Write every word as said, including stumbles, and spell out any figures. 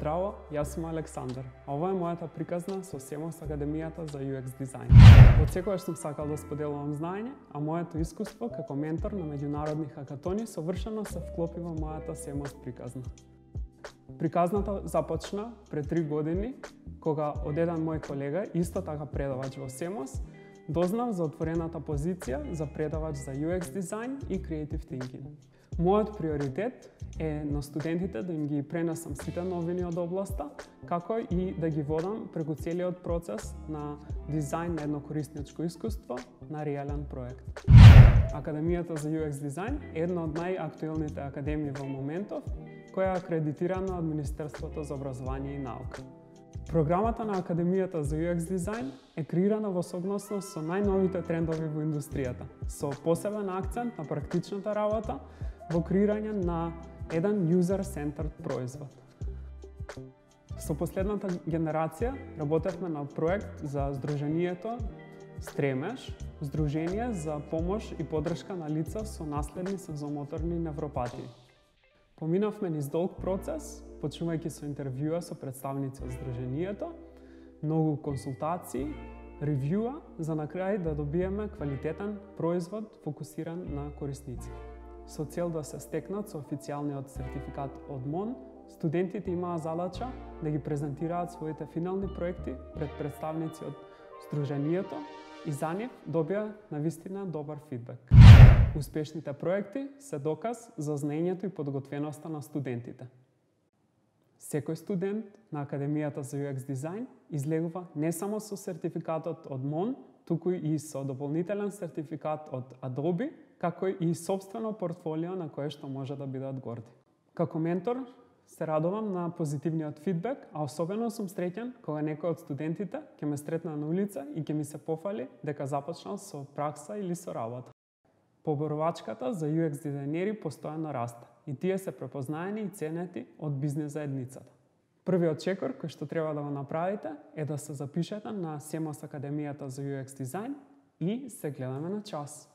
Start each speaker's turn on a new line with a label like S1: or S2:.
S1: Здраво, јас сум Александар, а ова е мојата приказна со Семос Академијата за ю екс дизајн. Од секогаш сум сакал да споделувам знаење, а моето искуство како ментор на меѓународни хакатони совршено се вклопи во мојата Семос приказна. Приказната започна пред три години, кога од еден мој колега, исто така предавач во Семос, дознав за отворената позиција за предавач за ю екс дизајн и Creative Thinking. Мојот приоритет е на студентите да им ги пренесам сите новини од областа, како и да ги водам преку целиот процес на дизајн на едно корисничко искуство на реален проект. Академијата за ю екс дизајн е една од најактуелните академии во моментов, која е акредитирана од Министерството за образование и наука. Програмата на Академијата за ю екс дизајн е креирана во согласност со најновите трендови во индустријата, со посебен акцент на практичната работа во креирање на еден user-centered производ. Со последната генерација работевме на проект за Сдруженијето Стремеш, Сдружение за помош и поддршка на лица со наследни сензомоторни невропатии. Поминавме низ долг процес, почнувајќи со интервјуа со представници од Сдруженијето, многу консултации, ревјуа, за на крај да добиеме квалитетен производ фокусиран на корисници. Со цел да се стекнат со официјалниот сертификат од МОН, студентите имаа задача да ги презентираат своите финални проекти пред представници од Сдруженијето и за нив добија навистина добар фидбек. Успешните проекти се доказ за знаењето и подготвеноста на студентите. Секој студент на Академијата за ю екс дизајн излегува не само со сертификатот од МОН, туку и со дополнителен сертификат од Adobe, како и собствено портфолио на кое што може да бидат горди. Како ментор се радувам на позитивниот фидбек, а особено сум среќен кога некој од студентите ќе ме сретна на улица и ќе ми се пофали дека започнал со пракса или со работа. Поборувачката за ю екс дизајнери постојано расте и тие се препознаени и ценети од бизнес заедницата. Првиот чекор кој што треба да го направите е да се запишете на Семос Академијата за ю екс дизајн и се гледаме на час.